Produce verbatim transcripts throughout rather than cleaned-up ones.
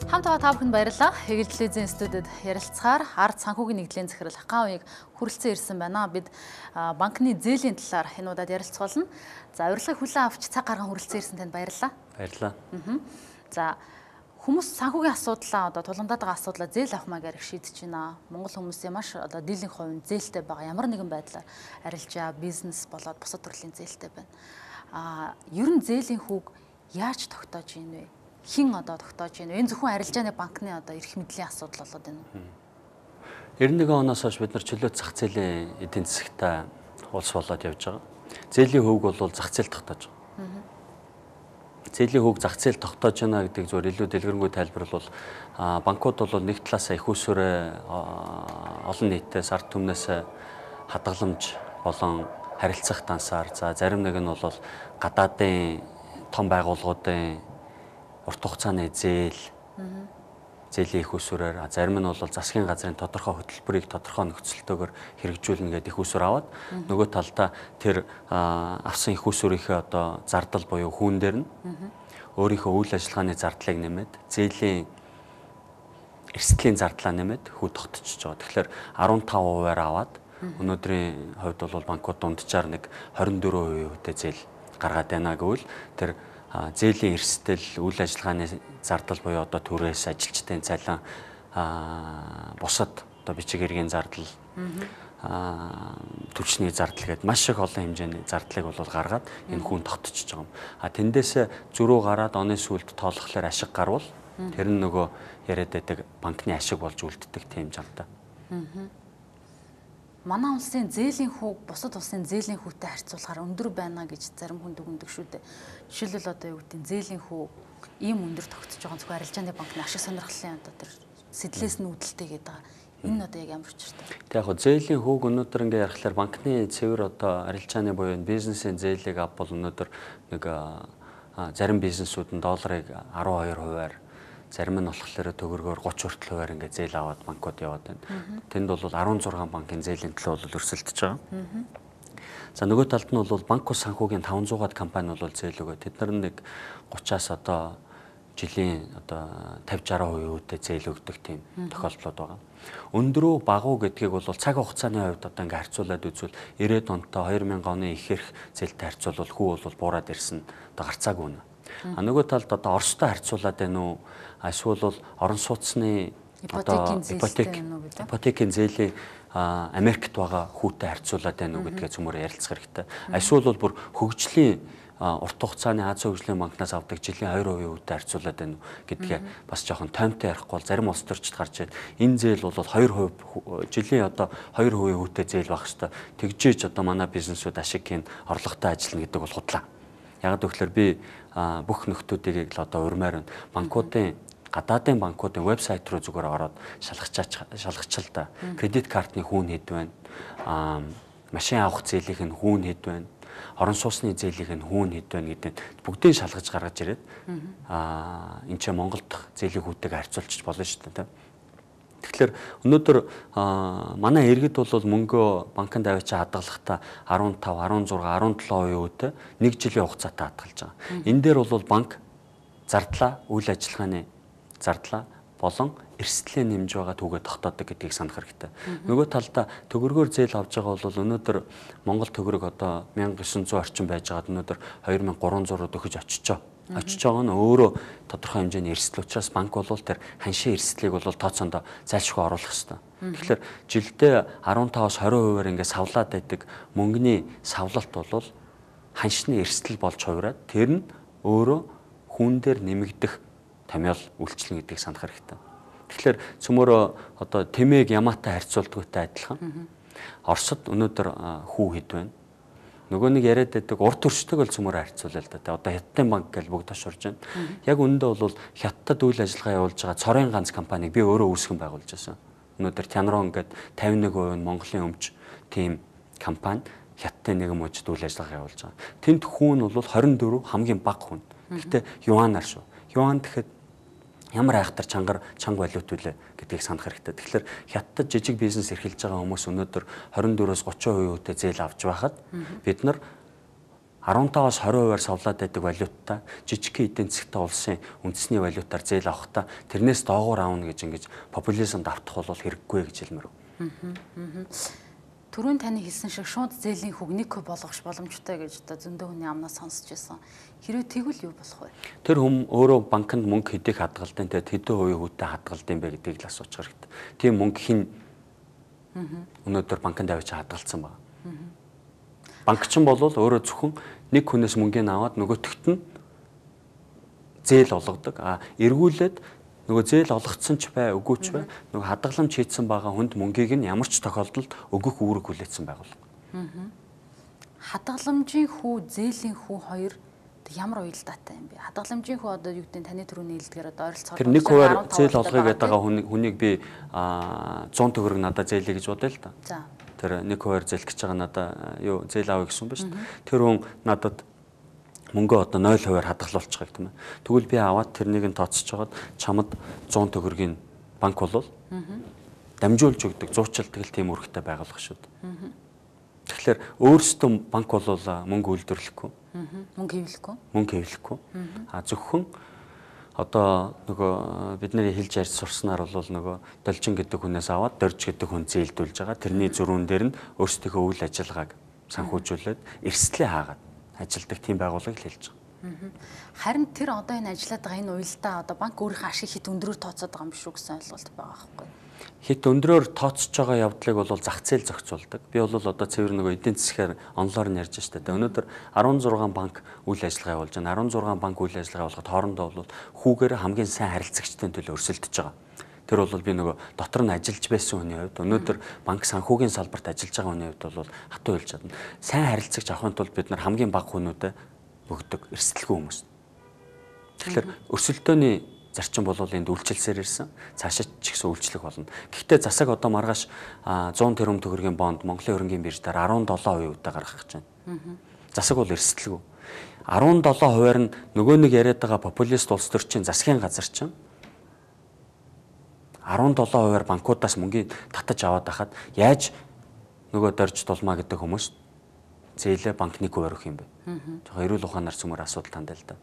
Хамт байгаа та бүхэнд баярлалаа. Эгэл телевизийн студид ярилцахаар ард санхүүгийн нэгдлийн захирал Хаан уяг хүрэлцэн ирсэн байна. Бид банкны зээлийн талаар энэ удаад ярилцуулна. За урилгыг хүлээн авч цаг гарган хүрэлцэн ирсэн танд баярлалаа. Баярлалаа. За хүмүүс санхүүгийн асуудлаа одоо тулгамдаад байгаа асуудлаа зээл авахмаа гэрх шийдэж байна. Монгол хүмүүсийн маш одоо дийлэнх хувь зээлтэй байгаа. Ямар нэгэн байдлаар арилжаа, бизнес болоод бусад төрлийн зээлтэй байна. А ер нь зээлийн хүүг яаж тогтоож ийн вэ? Хин одоо тогтоож байна. Энэ зөвхөн арилжааны банкны одоо эрх мэдлийн асуудал болоод байна уу? девяносто нэгэн оноос хойш бид нар чөлөөт зах зээлийн эдийн засагтай улс болоод явж байгаа. Зээлийн хөвөг бол зах зээл тогтоож байгаа. Зээлийн хөвөг зах зээл тогтоож байна гэдэг зөвөр илүү дэлгэрэнгүй тайлбарлал бол банкуд бол нэг талаас их усүрээ олон нийтээс ард түмнээс хадгаламж болон харилцах дансаар за зарим нэг нь бол гадаадын том байгууллагуудын урт хугацааны зээл, зээлийн их усүрээр зарим нь бол засгийн газрын тодорхой хөтөлбөрийг тодорхой нөхцөлтөөр хэрэгжүүлнэ гэдэг их усүр аваад нөгөө талдаа тэр авсан их усүрийнхээ одоо зардал буюу хүүн дээр нь өөрийнхөө үйл ажиллагааны зардлыг нэмээд зээлийн эрсдлийн зардлаа нэмээд хүү тогтчихж байгаа. Тэгэхээр арван тав хувиар аваад өнөөдрийн хувьд бол банкуд дунджаар нэг хорин дөрвөн хувийн зээл гаргаад байна гэвэл тэр зээлийн эрсдэл, үйл ажиллагааны зардал буюу одоо түрээс ажилчдын цалин, бусад одоо бичиг хэргийн зардал, түвшний зардал гэдэг маш их олон хэмжээний зардлыг бол гаргаад энэ хүн тогтчихж байгаа юм. А тэндээс зөрүү гараад оны сүүлд тоолохлоор ашиг гарвал тэр нь нөгөө яриад байдаг банкны ашиг болж үлддэг тийм жамтай. Манай улсын зээлийн хүүг бусад улсын зээлийн хүүтэй харьцуулахаар өндөр байна гэж зарим хүн дүгндэг шүү дээ. Жишээлбэл одоо юу гэдэг нь зээлийн хүү ийм өндөр тогтсож байгаа зөвхөн арилжааны банкны ашиг сонирхлын одоо тэр сэтлээс нь үүдэлтэй гэдэг байгаа. Энэ одоо яг ямар учиртай? Тэг яг хөө зээлийн хүүг өнөөдөр ингээ ярихлаар банкны цэвэр одоо арилжааны буюу бизнесийн зээлийг авбал өнөөдөр нэг зарим бизнесүүд нь долларыг арван хоёр хувиар зарим нь болохоор төгрөгөөр гуч хүртэл хувиар ингээ зээл аваад банкуд яваад байна. Тэнд бол арван зургаан банкын зээлийн төлөө бол өрсөлдөж байгаа. За нөгөө талд нь бол банк ус санхүүгийн таван зуугаад компани бол зээл өгөө. Тэд нар нэг гучаас одоо жилийн одоо тавьж арван хувийн үедээ зээл өгдөг тийм тохиолдлууд байгаа. Өндрөө багуу гэдгийг бол цаг хугацааны хувьд одоо ингээ харьцуулаад үзвэл ирээд онтой хоёр мянган оны их эрх зээлтэй харьцуулбал хүү бол буураад ирсэн одоо гарцаагүй нэ. А нөгөө талд одоо Оростой харьцуулаад байна уу? Эсвэл бол орон сууцны одоо ипотек ипотекийн зээлийн Америкт байгаа хүүтэй харьцуулаад байна уу гэдгээ цөмөр ярилцах хэрэгтэй. Эсвэл бол бүр хөгжлийн урт хугацааны Азийн хөгжлийн банкнаас авдаг жилийн хоёр хувийн хүүтэй харьцуулаад байна уу гэдгээ бас жоохон тоймтой ярихгүй бол зарим улс төрчид гарч ирээд энэ зээл бол хоёр хувь жилийн одоо хоёр хувийн хүүтэй зээл байх хэвээр тэгжээж одоо манай бизнесүүд ашиг хийн орлоготой ажиллана гэдэг бол худлаа. Яг гэвэл би бүх нөхдүүдийг л одоо урмаар байна. Банкуудын гадаадын банкуудын вебсайт руу зүгээр ороод шалгачаач шалгачил та. Кредит картны хүүн хэд байна? Аа машин авах зээлийн нь хүүн хэд байна? Орон сууцны зээлийн нь хүүн хэд байна гэдэг бүгдийг шалгаж гаргаж ирээд аа энэ ч Монголд зээлийн хүүтэйг харьцуулчих болно шүү дээ. Тэгэхээр өнөөдөр манай иргэд бол мөнгөө банкнд авчиж хадгалахдаа арван тав, арван зургаан, арван долоо хувийн үедээ нэг жилийн хугацаатай хадгалж байгаа. Энэ дээр бол банк зардлаа, үйл ажиллагааны зардлаа болон эрсдлийн нэмж байгаа түүгээ тогтоодог гэдгийг санах хэрэгтэй. Нөгөө талдаа төгрөгөөр зээл авж байгаа бол өнөөдөр Монгол төгрөг одоо мянга девин зуун орчим байж байгаад өнөөдөр хоёр мянга гурван зураад өгөж очиж очиж байгаа нь өөрөө тодорхой хэмжээний эрсдэл учраас банк бол тэр ханшийн эрсдлийг бол тооцоондоо зайлшгүй оруулах хэрэгтэй. Тэгэхээр жилдээ арван таваас хорин хувиар ингээд савлаад байдаг мөнгөний савлалт бол ханшны эрсдэл болж хувираад тэр нь өөрөө хүн дээр нэмэгдэх томьёол үйлчлэн гэдгийг санах хэрэгтэй. Тэгэхээр цөмөрөө одоо тэмээг ямаатай харьцуулдагтай адилхан. Оросд өнөөдөр хүү хэд байна? Нөгөө нэг яриад байдаг урт төрчтэйг л цөмөр харьцуулаа л да. Одоо Хятадын банк гэж бүгд тошурж байна. Яг үүндээ бол Хятадд үйл ажиллагаа явуулж байгаа цорын ганц компанийг би өөрөө үүсгэн байгуулж байсан. Өнөөдөр Тянрон гэдэг тавин нэг хувийн Монголын өмч тийм компани Хятадын нэгэн мужид үйл ажиллагаа явуулж байгаа. Тэнд хүүн бол хорин дөрөв хамгийн бага хүн. Гэхдээ юанаар шүү. Юан гэхэд ямар айхтар чангар чанга валют үлээ гэдгийг санах хэрэгтэй. Тэгэхээр Хятадд жижиг бизнес эрхэлж байгаа хүмүүс өнөөдөр хорин дөрвөөс гучин хувийн үедээ зээл авч байхад бид нар арван таваас хорин хувиар савлаад байдаг валютаа жижиг эдийн засгтай улсын үндэсний валютаар зээл авахта тэрнээс доогуур аавна гэж ингэж популизмд автах бол хэрэггүй гэж хэлмээр. Түрүүн таны хэлсэн шиг шууд зээлийн хүүг нэг болгох боломжтой гэж одоо зөндөө хүний амнаас сонсч байсан. Хэрвээ тэгвэл юу болох вэ? Тэр хүм өөрөө банкнд мөнгө хэдийг хадгалдаг, тэгээд хэдэн хувийн хүүтэй хадгалдаг юм бэ гэдгийг л асууж хэрэгтэй. Тийм мөнгө хин өнөөдөр банкнд авч хадгалсан байна. Банкчин бол өөрөө зөвхөн нэг хүнээс мөнгөний аваад нөгөөтгт нь зээл олгодог. А эргүүлээд нөгөө зээл олгоцсон ч бай, үгүй ч бай, нөгөө хадгаламж хийсэн байгаа хүнд мөнгийг нь ямар ч тохиолдолд өгөх үүрэг хүлээсэн байгууллага. Хадгаламжийн хүү, зээлийн хүү хоёр ямар уялдаатай юм бэ? Хадгаламжийн хүү одоо юу гэдэг нь таны түрүүний хэлдгээр одоо ойролцоогоор тэр нэг хувиар зээл олгоё гэдэг байгаа хүнийг би зуун төгрөг надад зээлээ гэж бодъё л да. За. Тэр нэг хувиар зээлэх гэж байгаа надад юу зээл авъя гэсэн юм ба шүү дээ. Тэр хүн надад мөнгөө одоо нуль хувиар хадгалуулчих гэх юм. Тэгвэл би аваад тэрнийг нь тооцож хагаад чамд зуун төгрөгийн банк болвол дамжуулж өгдөг, зуучилдаг л тийм үүрэгтэй байгуулах шүү дээ. Тэгэхээр өөрсдөө банк болвол мөнгө үйлдвэрлэхгүй. Мөнгө хэвлэхгүй. Мөнгө хэвлэхгүй. А зөвхөн одоо нөгөө бидний хэлж ярьж сурснаар бол нөгөө должин гэдэг хүнээс аваад дорж гэдэг хүн зээлдүүлж байгаа. Тэрний зөрүүн дээр нь өөрсдийнхөө үйл ажиллагааг санхүүжүүлээд эрсдлээ хаагаад ажилдаг тийм байгууллага л хэлж байгаа. Харин тэр одоо энэ ажиллаад байгаа энэ уялдаа одоо банк өөрийнхөө ашиг хит өндрөөр тооцоод байгаа юм биш үү гэсэн ойлголт байгаа байхгүй. Хит өндрөөр тооцож байгаа явдлыг бол зах зээл зохицуулдаг. Би бол одоо цэвэр нөгөө эдийн засгаар онлоор нь ярьж штэ. Өнөөдөр арван зургаан банк үйл ажиллагаа явуулж байна. арван зургаан банк үйл ажиллагаа болгоход хоорондоо бол хүүгээр хамгийн сайн харилцагчдын төлөө өрсөлдөж байгаа. Тэр бол би нөгөө дотор нь ажиллаж байсан хүний хувьд өнөөдөр банк санхүүгийн салбарт ажиллаж байгаа хүний хувьд бол хатуу хэлж чадна. Сайн харилцагч авахын тулд бид нар хамгийн бага хүнүүдэд өгдөг эрсдэлгүй хүмүүс. Тэгэхээр өрсөлдөөний зарчим бол энд үйлчилсээр ирсэн. Цаашаа ч ихсэн үйлчлэх болно. Гэхдээ засаг одоо маргааш зуун тэрбум төгрөгийн бонд Монголын хөрөнгийн биржээр арван долоо хувийн үедээ гаргах гэж байна. Засаг бол эрсдэлгүй. арван долоо хувиар нь нөгөө нэг яриад байгаа популист улс төрчин засгийн газар чинь арван долоо хувиар банкудаас мөнгөний татаж аваад байхад яаж нөгөө дорж тулмаа гэдэг хүмүүс зээлээ банкны хувиар өгөх юм бэ? Тэгэхээр эрүүл ухаанаар цөмөр асуудал тандаа л да.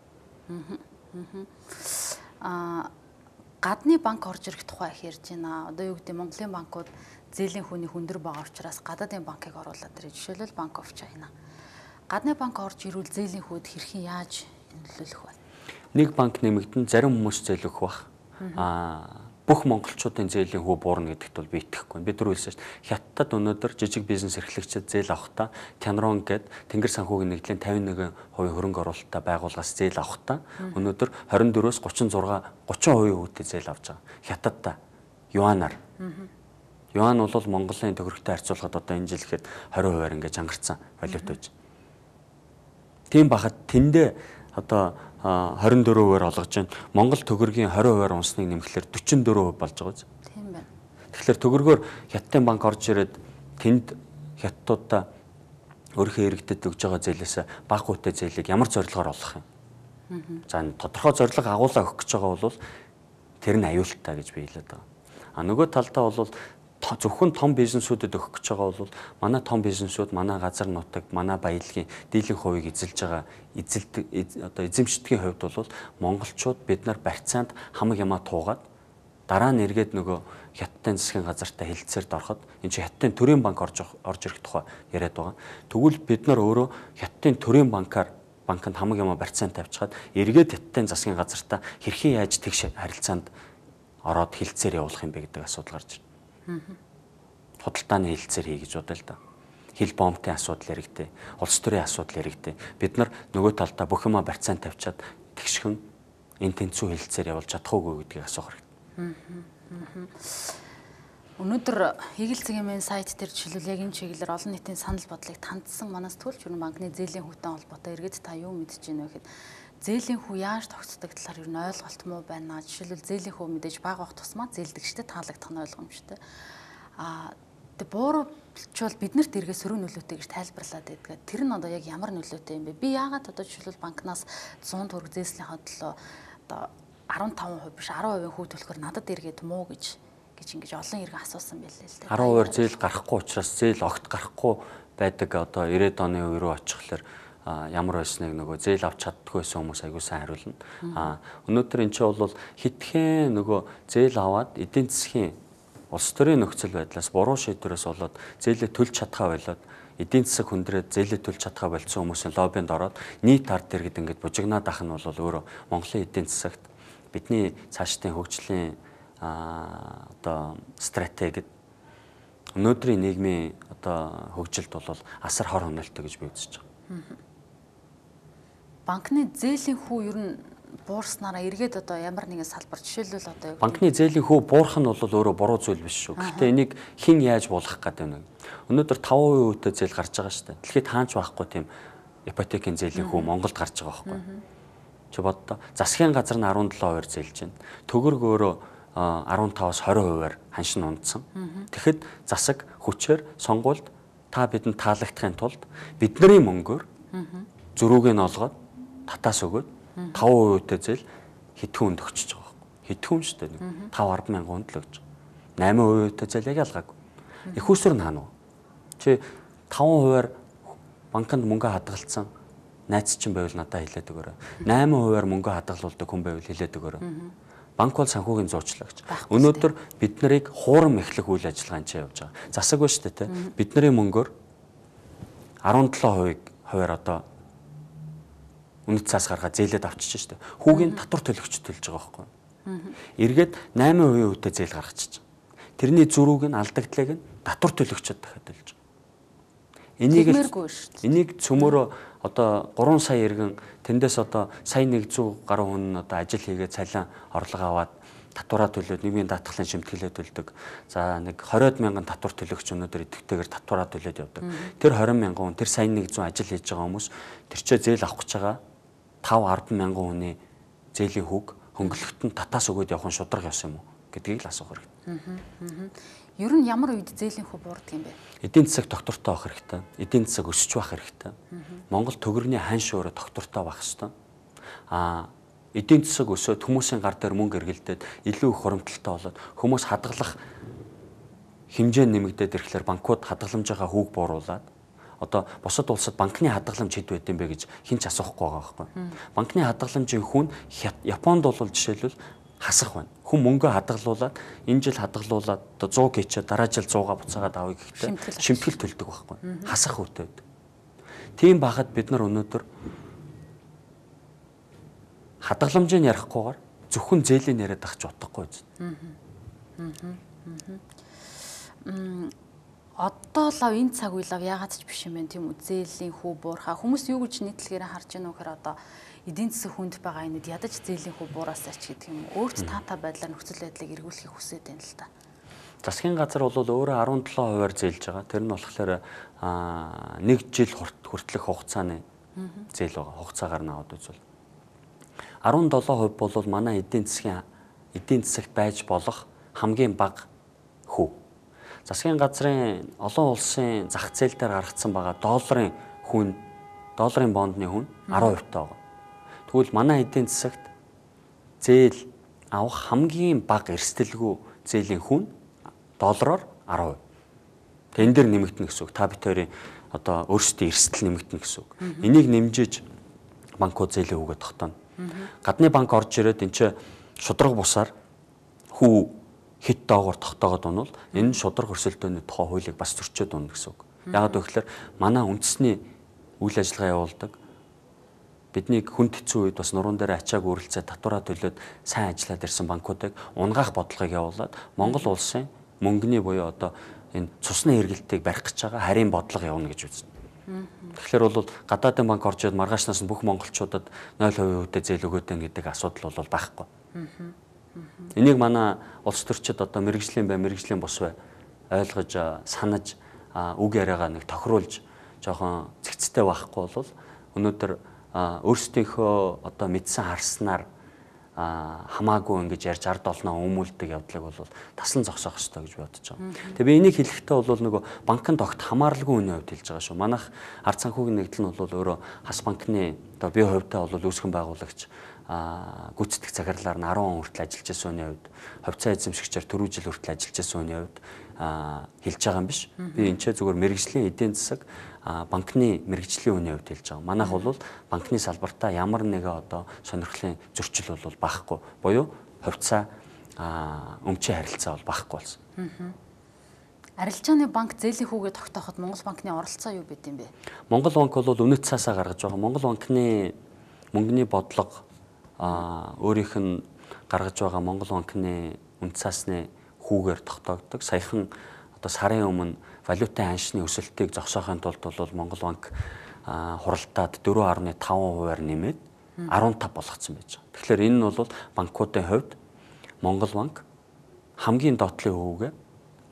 Аа гадны банк орж ирэх тухай их ярьж байна. Одоо юу гэдэг Монголын банкуд зээлийн хүний хүндэр байгаа учраас гадаадын банкыг оруулаад ирээ. Жишээлбэл Bank of China. Гадны банк орж ирвэл зээлийн хүүд хэрхэн яаж нөлөөлөх вэ? Нэг банк нэмэгдэн зарим хүмүүс зээл өгөх бах. Аа бүх монголчуудын зээлийн хүү буурна гэдэгт бол би итгэхгүй. Бид түрүү хэлсэн шүү дээ. Хятадд өнөөдөр жижиг бизнес эрхлэгчид зээл авахдаа Тянрон гээд Тэнгэр санхүүгийн нэгдлийн тавин нэгэн хувийн хөрөнгө оруулалттай байгууллагаас зээл авахдаа өнөөдөр хорин дөрвөөс гучин зургаан гучин хувийн хүүтэй зээл авч байгаа. Хятадтай юанаар. Юан бол Монголын төгрөгтэй харьцуулахад одоо энэ жил ихэд двадцать хувиар ингэж ангарцсан валют байж. Тийм бахад тэндээ одоо двадцать дөрвөн хувиар олгож байна. Монгол төгрөгийн двадцать хувиар унсныг нэмэхлээр forty-four хувь болж байгаа биз? Тийм байна. Тэгэхээр төгрөгөөр Хятадын банк орж ирээд тэнд хятадуудаа өөрийнхөө иргэдэд өгж байгаа зээлээс бага хүүтэй зээлийг ямар зорилгоор олох юм? За тодорхой зорилго агуулга өгөх гэж байгаа бол тэр нь аюултай гэж би хэлээд байгаа. А нөгөө талдаа бол зөвхөн том бизнесүүдэд өгөх гэж байгаа бол манай том бизнесүүд манай газар нутагт манай баялагын дийлэнх хувийг эзэлж байгаа эзэлдэг одоо эзэмшдгийн хувьд бол монголчууд бид нар барьцаанд хамаг ямаа туугаад дараа нь эргээд нөгөө Хятадын засгийн газартай хэлэлцээрд ороход энэ чи Хятадын төрийн банк орж орж ирэх тухай яриад байгаа. Тэгвэл бид нар өөрөө Хятадын төрийн банкар банкнд хамаг ямаа барьцаанд тавьчихад эргээд Хятадын засгийн газартаа хэрхэн яаж тэгш харилцаанд ороод хэлэлцээр явуулах юм бэ гэдэг асуудал гарч байна. Худалдааны хэлэлцээр хий гэж бодъё л да. Хил бомбын асуудал яригдээ, улс төрийн асуудал яригдээ. Бид нар нөгөө талдаа бүх юмаа барьцаанд тавьчаад тэгшхэн энэ тэнцүү хэлэлцээр явуулж чадахгүй гэдгийг асуух хэрэгтэй. Өнөөдөр Игэл цэгийн сайт дээр жишээлбэл яг энэ чиглэлээр олон нийтийн санал бодлыг тандсан манаас Төрөлж өрн банкны зээлийн хүүтэй холбоотой иргэд та юу мэдэж байна вэ гэхэд зээлийн хүү яаж тогтдог талаар ер нь ойлголт муу байна. Жишээлбэл зээлийн хүү мэдээж бага бах тусмаа зээлдэгчтэй таалагдах нь ойлгомжтой. Аа тэг бууралчвал биднэрт эргээ сөрөг нөлөөтэй гэж тайлбарлаад байдаг. Тэр нь одоо яг ямар нөлөөтэй юм бэ? Би яагаад одоо жишээлбэл банкнаас one hundred төгрөг зээслийнхаа төлөө одоо fifteen percent биш ten percent хүү төлөхөр надад эргээд муу гэж гэж ингэж олон иргэн асуусан байлээ л дээ. ten percent зээл гарахгүй учраас зээл огт гарахгүй байдаг одоо ninety оны үе рүү очихлоор ямар байсныг нөгөө зээл авч чаддгүй байсан хүмүүс аягүй сайн хариулна. А өнөөдөр энэ чинь бол хитгэн нөгөө зээл аваад эдийн засгийн улс төрийн нөхцөл байдлаас буруу шийдвэрээс болоод зээлээ төлж чадхаа болоод эдийн засаг хүндрээд зээлээ төлж чадхаа болцсон хүмүүсийн лоббинд ороод нийт ард иргэд ингэж бужигнаад ах нь бол өөрөө Монголын эдийн засагт бидний цаашдын хөгжлийн а одоо стратегид өнөөдрийн нийгмийн одоо хөгжилд бол асар хор хөнөөлтөй гэж би үзэж байгаа. Банкны зээлийн хүү ер нь буурснараа эргээд одоо ямар нэгэн салбар жишээлбэл одоо банкны зээлийн хүү буурах нь бол өөрөө буруу зүйл биш шүү. Гэхдээ энийг хэн яаж буулгах гэдэг нь. Өнөөдөр таван хувийн зээл гарч байгаа шүү дээ. Дэлхийд хаанч байхгүй тийм ипотекийн зээлийн хүү Монголд гарч байгаа байхгүй. Чи боддоо засгийн газар нь арван долоо хувиар зээлж байна. Төгөрг өөрөө арван таваас хорин хувиар ханшин ундсан. Тэгэхэд засаг хүчээр сонгуульд та бидэнд таалагдахын тулд бидний мөнгөөр зөрүүг нь олгоод татаас өгөөд таван хувийн зээл хэдхэн хүнд өгчөж байгаа байхгүй. Хэдхэн шүү дээ. таван арван мянган хүнд л өгч. намын хувийн зээл яг ялгаагүй. Их усүр нь хаана вэ? Чи таван хувиар банкнд мөнгө хадгалсан найз чинь байвал надад хэлээд өгөөрэй. намын хувиар мөнгө хадгалуулдаг хүн байвал хэлээд өгөөрэй. Банк бол санхүүгийн зуучлагч. Өнөөдөр бид нарыг хуурам эхлэх үйл ажиллагаанд чи явж байгаа. Засаг ба шүү дээ. Бидний мөнгөөр арван долоо хувиар одоо үнэт цаас гаргаад зээлээд авчиж шүү дээ. Хүүгийн татвар төлөгч төлж байгаа байхгүй. Эргээд намын хувийн үедээ зээл гаргачих. Тэрний зөрүүг нь алдагдлыг нь татвар төлөгчөд дахиад төлж байгаа. Энийг энийг цөмөрөө одоо гурван сая иргэн тэндээс одоо сая нэг зуун гаруй хүн нь одоо ажил хийгээд цалин орлого аваад татвараа төлөөд нийгмийн даатгалын шимтгэлээ төлдөг. За нэг хориод мянган татвар төлөгч өнөөдөр идэвхтэйгээр татвараа төлөөд явдаг. Тэр хорин мянган хүн тэр сая нэг зуун ажил хийж байгаа хүмүүс тэр чөө зээл авах гэж байгаа таван арван мянган хүний зээлийн хүүг хөнгөлөлтөнд татаас өгөөд явах нь шударга явсан юм уу гэдгийг л асуух хэрэгтэй. Ер нь ямар үед зээлийн хүү буурдаг юм бэ? Эдийн засаг доктортой байх хэрэгтэй. Эдийн засаг өсөж байх хэрэгтэй. Монгол төгрөгийн ханш өөрөө доктортой байх хэрэгтэй. Аа эдийн засаг өсөөд хүмүүсийн гар дээр мөнгө эргэлдээд илүү их хуримтлалтай болоод хүмүүс хадгалах хэмжээ нэмэгдээд ирэхлээр банкуд хадгаламжийнхаа хүүг бууруулад одоо бусад улсад банкны хадгаламж хэд байд юм бэ гэж хэн ч асуухгүй байгаа байхгүй. Банкны хадгаламжийн хүн Японд бол жишээлбэл хасах байна. Хүн мөнгө хадгалуулаад энэ жил хадгалуулаад одоо сто гэчээ дараа жил сто-га буцаагаад авъя гэхдээ шимтгэл төлдөг байхгүй. Хасах үүтэй байдаг. Тийм байхад бид нар өнөөдөр хадгаламжийг ярихгүйгээр зөвхөн зээлийн яриад ах ч утгагүй биз. Одоо л энэ цаг үе лав яагаад ч биш юм бэ тийм үү? Зээлийн хүү буурхаа хүмүүс юу гэж нийтлэгээр харж байна вэ гэхээр одоо эдийн засаг хүнд байгаа энэд ядаж зээлийн хүү буураасаач гэдэг юм. Өөрт таатай байдлаар нөхцөл байдлыг эргүүлэхийг хүсэж байна л та. Засгийн газар бол өөрөө арван долоо хувиар зээлж байгаа. Тэр нь болохоор нэг жил хүртэлх хугацааны зээл байгаа. Хугацаагаар нь аваад үзвэл арван долоо хувь бол манай эдийн засгийн эдийн засагт байж болох хамгийн бага хүү. Засгийн газрын олон улсын зах зээл дээр гаргацсан байгаа долларын хүн, долларын бондны хүн арван хувьтай байгаа. Тэгвэл манай эдийн засагт зээл авах хамгийн бага эрсдэлгүй зээлийн хүн доллараар арван хувь. Тэгээ энэ дэр нэмэгдэнэ гэсэн үг. Та бид хоёрын одоо өөрсдийн эрсдэл нэмэгдэнэ гэсэн үг. Энийг нэмжиж банкуд зээлийн хүүгээ тогтооно. Гадны банк орж ирээд энэ чинь шударга бусаар хүү хит доогоор тогтоогод унвал энэ шударга өрсөлдөөний тухай хуулийг бас зөрчөөд унна гэсэн үг. Яагаад гэвэл манай үндэсний үйл ажиллагаа явуулдаг биднийг хүнд хэцүү үед бас нуруунд дээр ачааг үрэлцээ татвараа төлөөд сайн ажиллаад ирсэн банкуудыг унгаах бодлогыг явуулаад Монгол улсын мөнгөний буюу одоо энэ цусны хэрэглэлтийг барих гэж байгаа харийн бодлого явуулна гэж үзнэ. Тэгэхээр бол гадаадын банк орж ирээд маргаашнаас нь бүх монголчуудад нуль хувийн үедээ зээл өгөөд гэдэг асуудал бол байхгүй. Энийг манай улс төрчид одоо мэрэгжлийн бай, мэрэгжлийн бус бай ойлгож, санаж, үг яриагаа нэг тохируулж жоохон цэгцтэй байхгүй бол өнөөдөр өөрсдийнхөө одоо мэдсэн харснаар хамаагүй ингэж ярьж ард олноо өмүүлдэг явдлыг бол таслан зогсоох хэрэгтэй гэж бодож байгаа. Тэгээ би энийг хэлэхдээ бол нөгөө банкнд огт хамааралгүй үний хувьд хэлж байгаа шүү. Манайх ард санхүүгийн нэгдэл нь бол өөрөө хас банкны одоо бие хувьтай бол үүсгэн байгуулагч гүйцэтгэх захирлаар нь арван он хүртэл ажиллаж байсан хүний хувьд, хувьцаа эзэмшигчээр дөрвөн жил хүртэл ажиллаж байсан хүний хувьд хэлж байгаа юм биш. Би энэ ч зүгээр мэрэгжлийн эдийн засаг банкны мэрэгжлийн үний хувьд хэлж байгаа. Манайх бол банкны салбартаа ямар нэгэн одоо сонирхлын зөрчил бол багхгүй. Буюу хувьцаа өмчийн харилцаа бол багхгүй болсон. Арилжааны банк зээлийн хүүгээ тогтооход Монгол банкны оролцоо юу байд юм бэ? Монгол банк бол үнэт цаасаа гаргаж байгаа. Монгол банкны мөнгөний бодлого өөрийнх нь гаргаж байгаа Монгол банкны үнэт цаасны хүүгээр тогтоогддог. Саяхан одоо сарын өмнө валютын ханшны өсөлтийг зогсоохын тулд бол Монгол банк хуралдаад дөрвөн гаруй таван хувиар нэмээд арван тав болгоцсон байж байгаа. Тэгэхээр энэ нь бол банкуудын хувьд Монгол банк хамгийн доотлын хүүгээ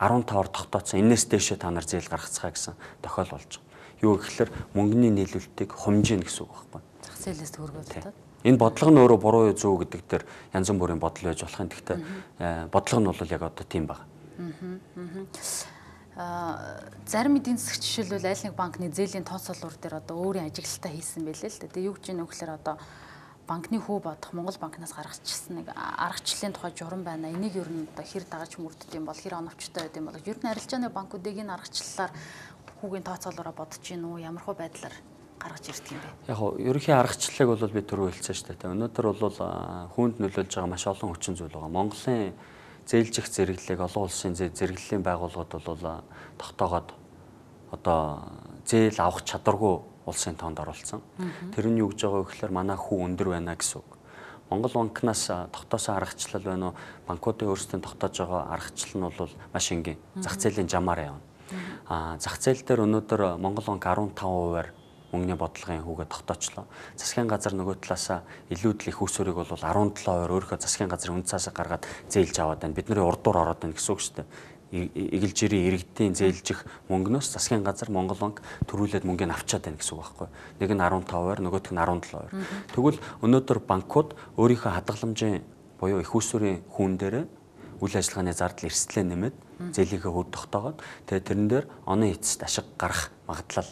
арван таваар тогтооцсон. Энээс дээшээ та нар зээл гаргацгаа гэсэн тохиол болж байгаа. Юу гэхээр мөнгөний нийлүүлэлтийг хумжийн гэсэн үг байхгүй. Зах зээлээс төгрөгөө татаад. Энэ бодлого нь өөрөө буруу юу зөв гэдэг дээр янз бүрийн бодол байж болох юм. Гэхдээ бодлого нь бол яг одоо тийм байна. Аа зарим эдийн засагч жишээлбэл аль нэг банкны зээлийн тооцоолуур дээр одоо өөрийн ажиглалтаа хийсэн байлээ л дээ. Тэгээ юу гэж юм нөхлөөр одоо банкны хүү бодох Монгол банкнаас гаргачихсан нэг аргачлалын тухай журам байна. Энийг ер нь одоо хэр дагаж мөрддөг юм бол хэр оновчтой байд юм бол ер нь арилжааны банкуудыг энэ аргачлалаар хүүгийн тооцоолоороо бодож гин үү ямархуу байдлаар гаргаж ирдэг юм бэ? Яг нь ерөнхий аргачлалыг бол би түрүү хэлсэн шүү дээ. Өнөөдөр бол хүнд нөлөөлж байгаа маш олон хүчин зүйл байгаа. Монголын зээлжих зэрэглэлийг олон улсын зэрэглэлийн байгууллагууд бол тогтоогоод одоо зээл авах чадваргүй улсын тоонд оруулсан. Тэр нь юу гэж байгаа вэ гэхээр манай хүү өндөр байна гэсэн үг. Монгол банкнаас тогтоосон аргачлал байна уу? Банкуудын өөрсдийн тогтоож байгаа аргачлал нь бол маш энгийн. Зах зээлийн жамаар явна. Аа зах зээл дээр өнөөдөр Монгол банк арван таван хувиар мөнгөний бодлогын хүүгээ тогтоочлоо. Засгийн газар нөгөө талаасаа илүүдл их усүрийг бол арван долоо хувиар өөрийнхөө засгийн газрын үн цаасаа гаргаад зээлж аваад байна. Бид нарын урдуур ороод байна гэсэн үг шүү дээ. Игэл жирийн иргэдийн зээлжих мөнгнөөс засгийн газар Монгол банк төрүүлээд мөнгөний авчаад байна гэсэн үг байхгүй. Нэг нь арван таван хувиар, нөгөөх нь арван долоо хувиар. Тэгвэл өнөөдөр банкуд өөрийнхөө хадгаламжийн буюу их усүрийн хүүн дээрээ үйл ажиллагааны зардал эрсдлээ нэмээд зээлийнхээ хөд тогтоогоод тэгээ тэрэн дээр оны эцэст ашиг гарах магадлал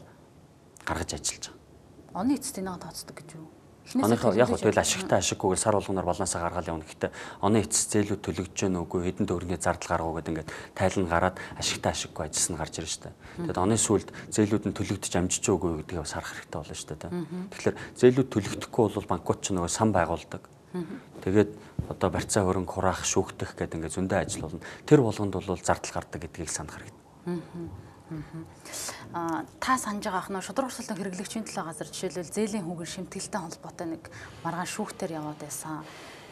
гаргаж ажиллаж байгаа. Оны эцэст энийг тооцдог гэж юу? Оныхоо яг хөө тэгэл ашигтай ашиггүйгээр сар болгоноор балансаа гаргаад явна. Гэхдээ оны эцэст зээлүүд төлөгдөж гэнэ үгүй хэдэн төгрөгийн зардал гаргав гэдэг ингээд тайлан гараад ашигтай ашиггүй ажилласан гарч ирж штэ. Тэгэд оны сүүлд зээлүүд нь төлөгдөж амжиж үгүй гэдгийг бас харах хэрэгтэй болно штэ. Тэгэхээр зээлүүд төлөгдөхгүй бол банкуд ч нөгөө сан байгуулдаг. Тэгээд одоо барьцаа хөрөнгө хураах, шүүхтэх гэдэг ингээд зөндөө ажил болно. Тэр болгонд бол зардал гардаг гэдгийг санах хэрэгтэй. Аа та санаж байгаа ах нь шудраг өрсөлдөөн хэрэглэгчийн төлөө газар жишээлбэл зээлийн хүүгийн шимтгэлтэй холбоотой нэг маргаан шүүхтэр яваад байсан.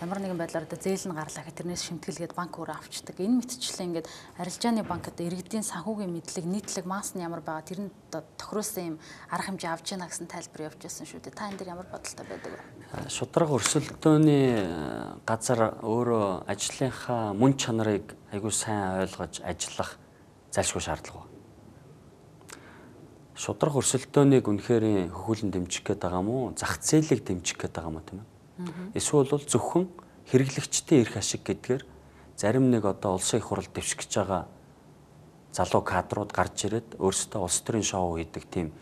Ямар нэгэн байдлаар одоо зээл нь гарлаа гэхэд тэрнээс шимтгэлгээд банк өөрөө авчдаг. Энэ мэтчлэн ингээд арилжааны банкд иргэдийн санхүүгийн мэдлэг, нийтлэг мас нь ямар байгаа тэр нь тохироосон юм арга хэмжээ авч яана гэсэн тайлбар явж байсан шүү дээ. Та энэ дээр ямар бодолтой байдаг вэ? Шудраг өрсөлдөөний газар өөрөө ажлынхаа мөн чанарыг айгүй сайн ойлгож ажиллах зайлшгүй шаардлага. Шудраг өрсөлдөөнийг үнэхээр хөхүүлэн дэмжих гээд байгаа мó, зах зээлийг дэмжих гээд байгаа мó тийм ээ. Эсвэл бол зөвхөн хэрэглэгчдийн эрх ашиг гэдгээр зарим нэг одоо улсын их хурал дэвшгэж байгаа залуу кадрууд гарч ирээд өөрсдөө улс төрийн шоу хийдэг тийм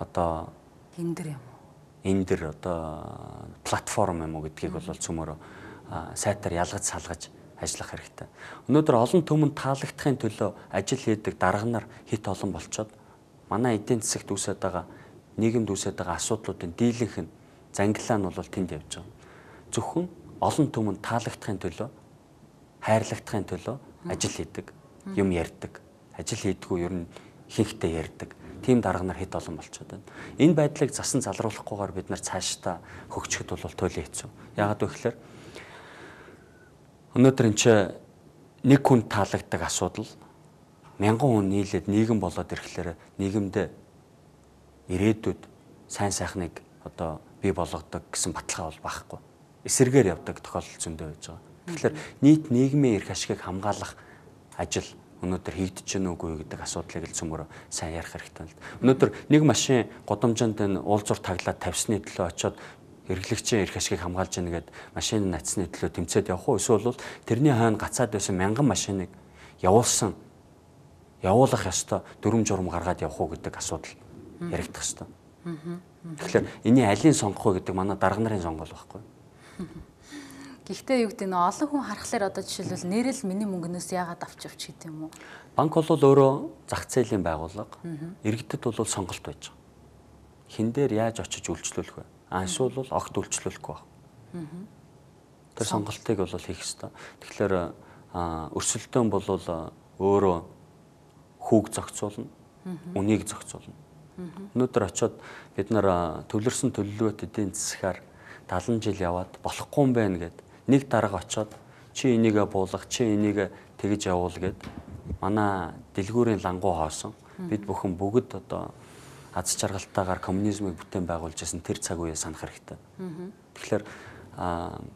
одоо эндэр юм уу? Эндэр одоо платформ юм уу гэдгийг бол цөмөрөө сайтар ялгаж салгаж ажиллах хэрэгтэй. Өнөөдөр олон түмэнд таалагдахын төлөө ажил хийдэг дарга нар хит олон болчоод манай эдийн засагт үүсэж байгаа нийгэмд үүсэж байгаа асуудлуудын дийлэнх нь зангилаа нь бол тэнд явж байгаа. Зөвхөн олон түмэнд таалагдахын төлөө, хайрлагдахын төлөө ажил хийдэг, юм ярьдаг. Ажил хийдгүү ер нь ихэнхдээ ярьдаг. Тим дарга нар хэд олон болчиход байна. Энэ байдлыг засан залруулахгүйгээр бид нар цаашдаа хөгжихэд бол туйлын хэцүү. Яагаад вэ гэхээр өнөөдөр энэ чинь нэг хүн таалагддаг асуудал мянган хүн нийлээд нийгэм болоод ирэхлээр нийгэмдээ ирээдүйд сайн сайхныг одоо бий болгодог гэсэн баталгаа бол багхгүй. Эсэргээр явдаг тохиолдол зөндөө байж байгаа. Тэгэхээр нийт нийгмийн эрх ашигыг хамгаалах ажил өнөөдөр хийгдэж гэнэ үгүй гэдэг асуудлыг л цөмөр сайн ярих хэрэгтэй байна. Өнөөдөр нэг машин годамжинд энэ уулзуур таглаад тавьсны төлөө очиод хэрэглэгчийн эрх ашигыг хамгаалж гэнэ гэд машин нацсны төлөө тэмцээд явах уу? Эсвэл бол тэрний хойно гацаад байсан мянган машиныг явуулсан явуулах ёстой дүрм журм гаргаад явах уу гэдэг асуудал яригдах ёстой. Тэгэхээр энэний алийг сонгох вэ гэдэг манай дарга нарын сонгол байхгүй. Гэхдээ юу гэдэг нь олон хүн харахаар одоо жишээлбэл нэрэл миний мөнгнөөс яагаад авч авч гэдэг юм уу? Банк бол өөрөө зах зээлийн байгууллага. Иргэдэд бол сонголт байж байгаа. Хин дээр яаж очиж үйлчлүүлэх вэ? Анш бол огт үйлчлүүлэхгүй байна. Тэр сонголтыг бол хийх ёстой. Тэгэхээр өрсөлдөөн бол өөрөө хүүг зохицуулна, үнийг зохицуулна. Өнөөдөр очиод бид нар төвлөрсөн төлөвлөлт эдийн засгаар талан жил яваад болохгүй юм байна гэд нэг дарга очиод чи энийгээ буулгах, чи энийгээ тэгж явуул гэд манай дэлгүүрийн лангуу хоосон бид бүхэн бүгд одоо аз жаргалтайгаар коммунизмыг бүтээн байгуулж байсан тэр цаг үеэ санах хэрэгтэй. Тэгэхээр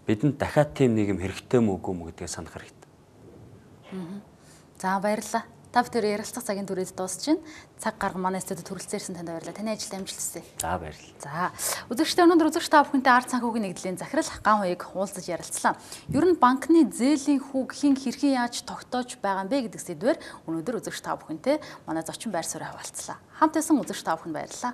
бидэнд дахиад тийм нийгэм хэрэгтэй мүү үгүй мүү гэдгийг санах хэрэгтэй. За баярлалаа. Та бүхэн ярилцлага цагийн түрээд дуусч байна. Цаг гарга манай студид хүрэлцээрсэн танд баярлалаа. Таны ажилд амжилт хүсье. За баярлалаа. За үзэгчдээ өнөөдөр үзэгч та бүхэнтэй ард санхүүгийн нэгдлийн захирал Ган хуйг уулзаж ярилцлаа. Ер нь банкны зээлийн хүүг хэн хэрхэн яаж тогтоож байгаа юм бэ гэдэг сэдвээр өнөөдөр үзэгч та бүхэнтэй манай зочин байр суурь хаваалцлаа. Хамт байсан үзэгч та бүхэнд баярлалаа.